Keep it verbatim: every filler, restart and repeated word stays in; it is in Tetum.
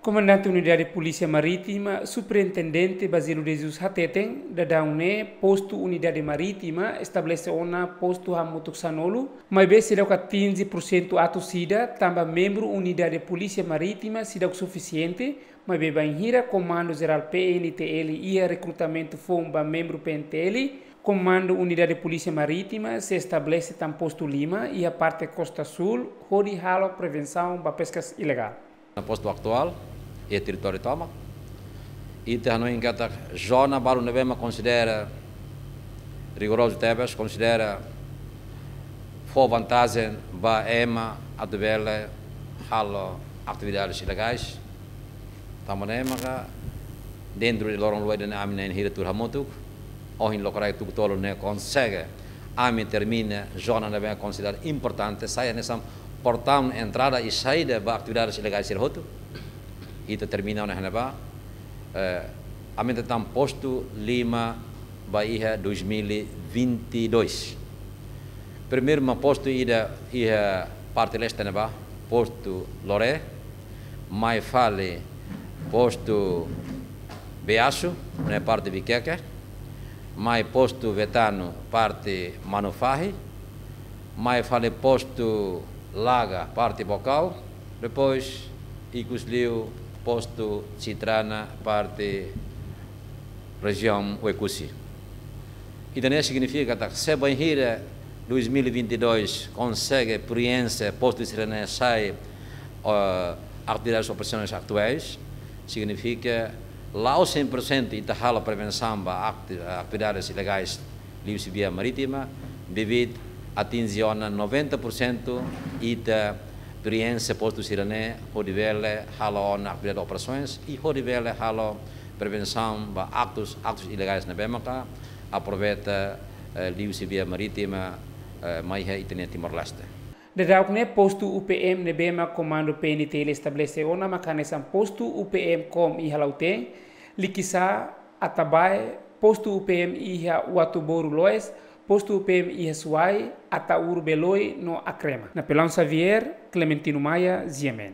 Komandante Unidade Polísia Marítima, Superintendente Basílio de Jesus hateten, daudaun ne'e postu Unidade Marítima estabelese ona postu hamutuk sanulu, maibé seidauk atinje pursentu atus ida, tanba membru Unidade Polísia Marítima seidauk sufisiente, maibé bainhira Komandu Jerál P N T L iha rekrutamentu foun ba membru P N T L, Komandu Unidade Polísia Marítima sei estabelese tan postu lima iha parte Kosta Súl, hodi halo prevensaun ba peskas ilegál. Na postu atuál, iha territóriu tomak, ita hanoin katak zona balu ne'ebé mak konsidera rigorozu tebes, konsidera fó vantajen ba ema atu bele halo atividades ilegais. Tanba ne'e maka dentru de loron luai ida-ne'e ami na'in hira tuur hamutuk, ohin lokraik tuku tolu ne'e konsege ami termina zona ne'ebé konsidera importante, sai hanesan portaun entrada i saida ba atividades ilegais sira hotu. Ita termina ona iha ne'ebá, eh, aumenta tan postu lima ba iha dois mil e vinte e dois. Primeiru mak postu ida iha parte leste ne'ebá, postu Loré, mai fali postu Beasu, ne'e parte Viqueque, mai postu Vetano, parte Manufahi, mai fali postu Laga, parte Baucau, depois ikus liu postu Citrana, parte rejiaun Oekusi. Ida-ne'e signifika katak se bainhira dois mil e vinte e dois konsege preenxe postu sira-ne'e sai, eh, atividades operasionais atuais, signifika la'ós cem por cento ita halo prevensaun ba ati-, atividades ilegais liuhusi via marítima, devido atinje ona noventa por cento ita preenxe postu sira-ne'e hodi bele halo ona atividade operasoens i hodi bele halo prevensaun ba aktus, aktus ilegais ne'ebé maka aproveita, eh, liuhusi via marítima, eh, mai iha ita-nia Timor-Leste. Daudauk ne'e postu U P M ne'ebé mak Komandu P N T L estabelese ona maka hanesan postu U P M Kom iha Lautém, Likisá, Atabae, postu U P M iha Uatuboru Loes, postu U P M iha Suai, Ataúru Beloi no Acrema. Napoleão Xavier, Clementino Maia, G M N.